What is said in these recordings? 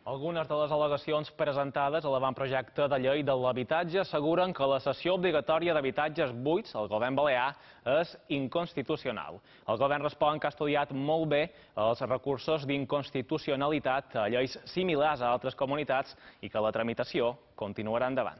Algunes de les al·legacions presentades a l'avantprojecte de llei de l'habitatge asseguren que la cessió obligatòria d'habitatges buits al govern balear és inconstitucional. El govern respon que ha estudiat molt bé els recursos d'inconstitucionalitat a lleis similars a altres comunitats i que la tramitació continuarà endavant.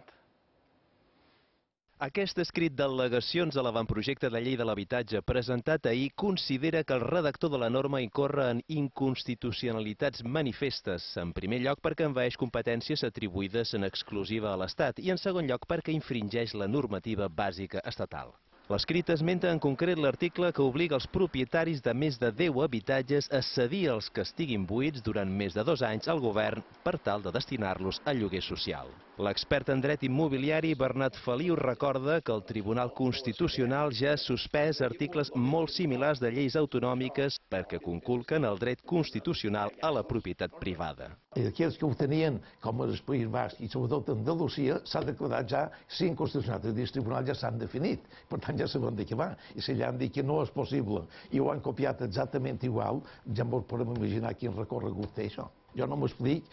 Aquest escrit d'al·legacions a l'avantprojecte de llei de l'habitatge presentat ahir considera que el redactor de la norma incorre en inconstitucionalitats manifestes, en primer lloc perquè envaeix competències atribuïdes en exclusiva a l'Estat i en segon lloc perquè infringeix la normativa bàsica estatal. L'escrit esmenta en concret l'article que obliga els propietaris de més de 10 habitatges a cedir els que estiguin buits durant més de 2 anys al govern per tal de destinar-los a lloguer social. L'expert en dret immobiliari Bernat Feliu recorda que el Tribunal Constitucional ja ha suspès articles molt similars de lleis autonòmiques perquè conculquen el dret constitucional a la propietat privada. Aquells que ho tenien, com el País Basc i sobretot Andalusia, s'ha declarat ja ser inconstitucional. Els tribunals ja s'han definit, per tant ja sabem de què va. I si ja han dit que no és possible i ho han copiat exactament igual, ja ens podem imaginar quin recorregut té això. Jo no m'explic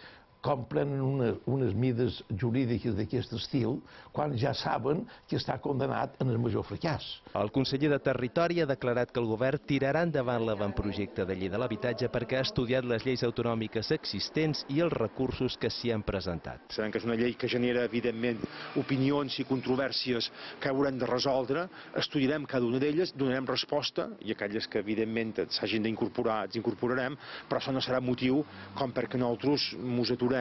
com prenen unes mides jurídiques d'aquest estil quan ja saben que està condenat en el major fracàs. El conseller de Territori ha declarat que el govern tirarà endavant l'avantprojecte de llei de l'habitatge perquè ha estudiat les lleis autonòmiques existents i els recursos que s'hi han presentat. Sabem que és una llei que genera, evidentment, opinions i controvèrsies que haurem de resoldre. Estudiarem cada una d'elles, donarem resposta i aquelles que, evidentment, s'hagin d'incorporar, ens incorporarem, però això no serà motiu com perquè nosaltres ens aturem,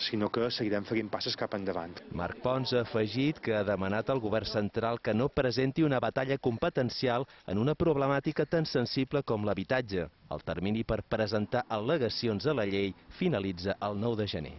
sinó que seguirem fent passes cap endavant. Marc Pons ha afegit que ha demanat al govern central que no presenti una batalla competencial en una problemàtica tan sensible com l'habitatge. El termini per presentar al·legacions a la llei finalitza el 9 de gener.